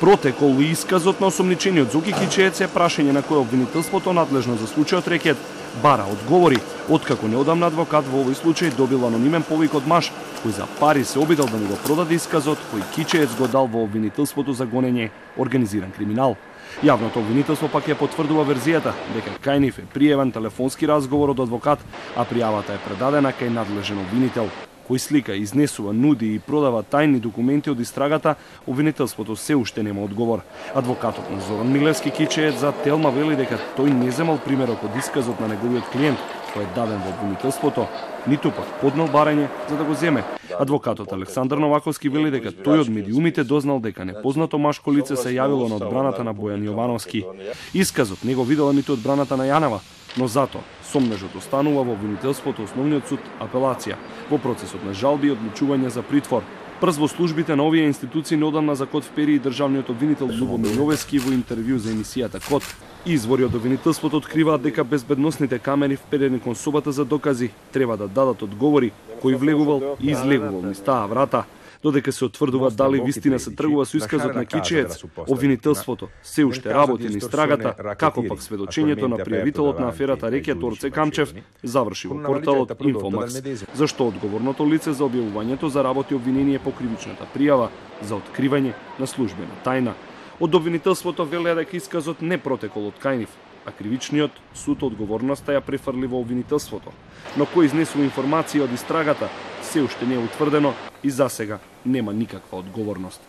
Протекол и исказот на осомничениот Зоки Кичиец е прашање на кое обвинителството надлежно за случајот рекет бара одговори, откако неодамна адвокат во овој случај добил анонимен повик од маж кој за пари се обидел да му го продаде исказот кој Кичиец го дал во обвинителството за гонење организиран криминал. Јавното обвинителство пак ја потврдува верзијата дека кај нив е пријавен телефонски разговор од адвокат, а пријавата е предадена кај надлежен обвинител кој слика, изнесува, нуди и продава тајни документи од истрагата. Обвинителството се уште нема одговор. Адвокатот на Зоран Милевски Кичиец за Телма вели дека тој не земал примерок од исказот на неговиот клиент кој е даден во обвинителството, ниту пак поднел барање за да го земе. Адвокатот Александар Новаковски вели дека тој од медиумите дознал дека непознато машко лице се јавило на одбраната на Бојан Јовановски. Исказот не го видела ниту одбраната на Јанова, но затоа сомнежот останува во обвинителството Основниот суд апелација во процесот на жалби и одлучување за притвор. Прз во службите на овие институции неодамна за Код впери и државниот обвинител Љубомир Јовески во интервју за емисијата Код. Извори од обвинителството откриваат дека безбедносните камери вперени кон собата за докази треба да дадат одговори кој влегувал и излегувал низ таа врата. Додека се утврдува дали вистина се тргува со исказот на Кичиец, обвинителството се уште работи низ истрагата, како пак сведочењето на пријавителот на аферата Рекет Орце Камчев заврши во порталот Инфомакс, зашто одговорното лице за објавувањето заработи обвинение по кривичната пријава за откривање на службена тајна. Од обвинителството велеа дека исказот не протекол од кај нив, а кривичниот суд одговорноста ја префрли во обвинителството. Но кој изнесува информација од истрагата се уште не е утврдено и засега нема никаква одговорност.